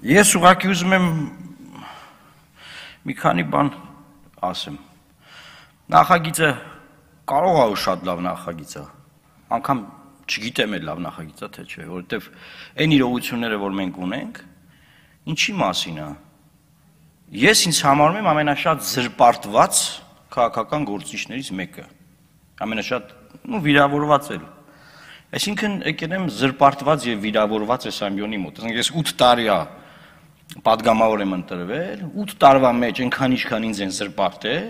Ես ուղղակի ուզում եմ մի քանի բան ասեմ։ Նախագիծը կարող է շատ լավ նախագիծ է, անգամ չգիտեմ էլ լավ նախագիծ է թե չէ, որովհետև այն իրողությունները, որ մենք ունենք, ինչի մասին է։ Ես ինձ համարում եմ ամենաշատ զրպարտված քաղաքական գործիչներից մեկը, ամենաշատ վիրավորված էլ։ Այսինքն եկել եմ զրպարտված եւ վիրավորված այս ամբիոնի մոտ։ Ես 8 տարի է պատգամավոր եմ ընտրվել, 8 տարվա մեջ այնքան ինչքան ինձ են զրպարտել,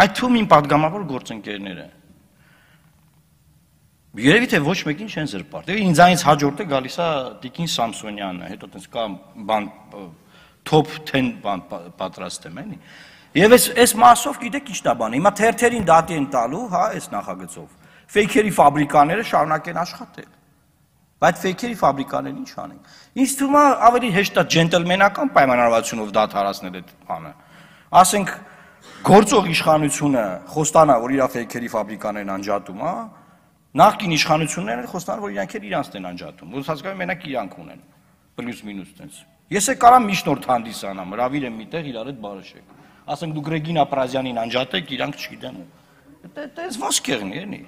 այդ թվում իմ պատգամավոր գործընկերները։ Երևի թե ոչ մեկին չեն զրպարտել։ Ինձանից հաջորդը գալիս է Տիկին Սամսոնյանը, հետո տենց կա բան top 10 բան պատրաստեմ, էլի։ Եվ այս մասով գիտեք ինչ դա բանը։ Հիմա թերթերին դատի են տալու, հա, այս նախագծով։ Ֆեյքերի ֆաբրիկաները շարունակեն աշխատել։ Բայց ֆեյքերի ֆաբրիկաներն ինչ անեն։ Ինձ թվում է ավելի հեշտ է ջենտլմենական պայմանավորվածությունով դադարեցնել այդ բանը։ Ասենք գործող իշխանությունը խոստանա, որ իր ֆեյքերի ֆաբրիկաներն անջատում, հա, նախկին իշխանությունները խոստանան, որ իրանքն են անջատում։ Ոնց հասկանում մենակ իրանք ունեն։ Պլյուս մինուս տենց։ Ես է կարամ միջնորդ հանդիսանամ, հրավիրեմ միտեղ իրար հետ բարեշեք։ Ասենք դուք Ռեգինա Պրազյանին անջատեք, իրանք չգիտեմ։ Դες ոնց կեղնի, էլի։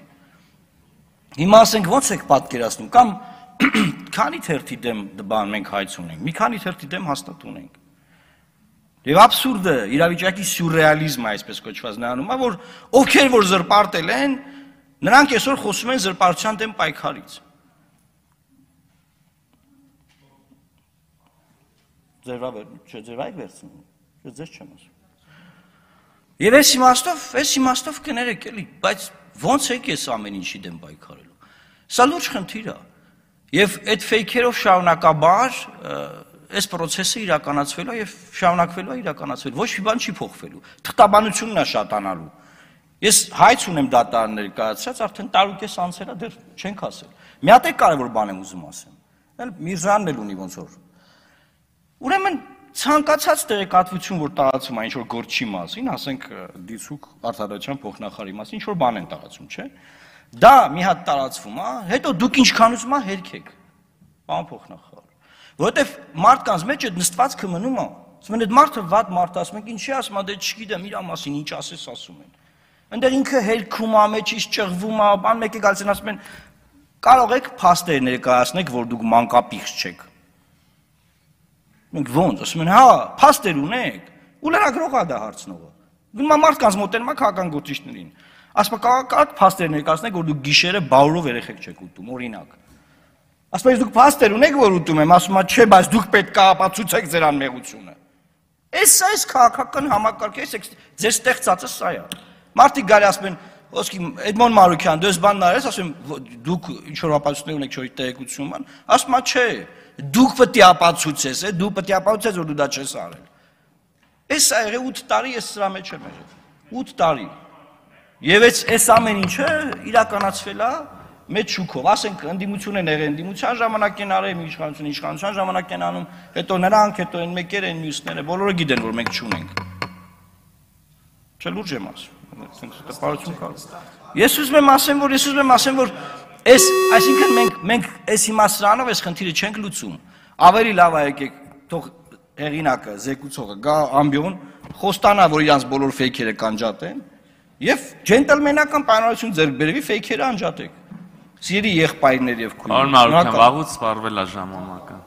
Հիմա ասենք ոնց եք պատկերացնում, կամ քանի թերթի դեմ բան մենք հայց ունենք, մի քանի թերթի դեմ հաստատ ունենք։ Եվ աբսուրդը, իրավիճակի սյուրռեալիզմը, այսպես կոչված նրանում է, որ ովքեր որ զրպարտել են, նրանք այսօր խոսում են զրպարտության դեմ պայքարից։ Ձեր այգ վերցնում, ձեզ չեմ ասում։ Եվ այս իմաստով կներեք էլի, բայց ոնց եք ես ամեն ինչի դեմ պայքարելու։ Սա լուրջ խնդիր է։ Եվ այդ ֆեյքերով շարունակաբար այս process-ը իրականացվելու եւ շարունակվելու է իրականացվել։ Ոչ մի բան չի փոխվելու։ Թղթաբանությունն է շատանալու։ Ես հայց ունեմ դատարաններ կայացրած, արդեն տարուկես անցել է, դեռ չենք ասել։ Մի հատ է կարևոր բան եմ ուզում ասեմ։ Էլ Միրզյանն էլ ունի ոնց որ։ Ուրեմն ցանկացած տեղեկատվություն, որ տարածում է ինչ-որ գործի մասին, ասենք դիցուկ արտադրության փոխնախարարի մասին, ինչ-որ բան են տարածում, չէ՞։ Դա մի հատ տարածվում է, հետո դուք ինչքան ուզում եք հերքեք։ Պարոն փոխնախարար։ Որովհետև մարդկանց մեջ այդ նստվածքը մնում է։ Ասում են այդ մարդը վատ մարդ, ասում են ինչի ասում, դե չգիտեմ, իր մասին ինչ ասես ասում են։ Այնտեղ ինքը հերքում է, մեջից ճղվում է, բան մեկ է գալիս են ասում են կարող եք փաստեր ներկայացնեք, որ դուք մանկապիղծ չեք։ Մենք ոնց, ասում են, հա, փաստեր ունեք, ու լրագրողը դա հարցնողը։ Գնում է մարդկանց մոտենում է քաղաքական գործիչներին։ Ասում է կարող փաստեր ներկայացնեք, որ դուք գիշերը բաուրով երեխեք չեք ուտում, օրինակ։ Ասում է դուք փաստեր ունեք, որ ուտում եմ, ասում է չէ, բայց դուք պետք է ապացուցեք ձեր անմեղությունը։ Այս քաղաքական համակարգը, ձեր ստեղծածը սա է։ Մարդիկ գալի ասում են, ոսկի Էդմոն Մարուկյան, դու ես բանն արես, ասում դուք ինչ որ ապացույցներ ունեք, չէ՞ տեղեկություն ման, ասում է չէ, դուք պետք է ապացուցես, դու պետք է ապացուցես, որ դու դա չես արել։ Այս ա եղել 8 տարի ես սրա մեջ եմ եղել։ 8 տարի։ Եվ այս ամեն ինչը իրականացվել է մեծ շուկով, ասենք ընդդիմություն են եղել, ընդդիմության ժամանակ են արել, իշխանության ժամանակ են անում, հետո նրանք, հետո այն մեկերը, այն մյուսները, բոլորը գիտեն, որ մենք չունենք։ Չէ՞ լուրջ եմ ասում։ Ես ուզում եմ ասեմ, որ այսինքն մենք այս իմաստրանով այս խնդիրը չենք լուծում։ Ավելի լավ է եկեք թող հեղինակը, զեկուցողը գա ամբիոն, խոստանա, որ իրանց բոլոր ֆեյքերը կանջատեն եւ ջենտլմենական պայմանավորություն ձեռք բերվի ֆեյքերը անջատեք։ Սիրելի եղբայրներ եւ քույրեր։ Պարոն Մարուկյան, վաղուց սպառվել է ժամանակը։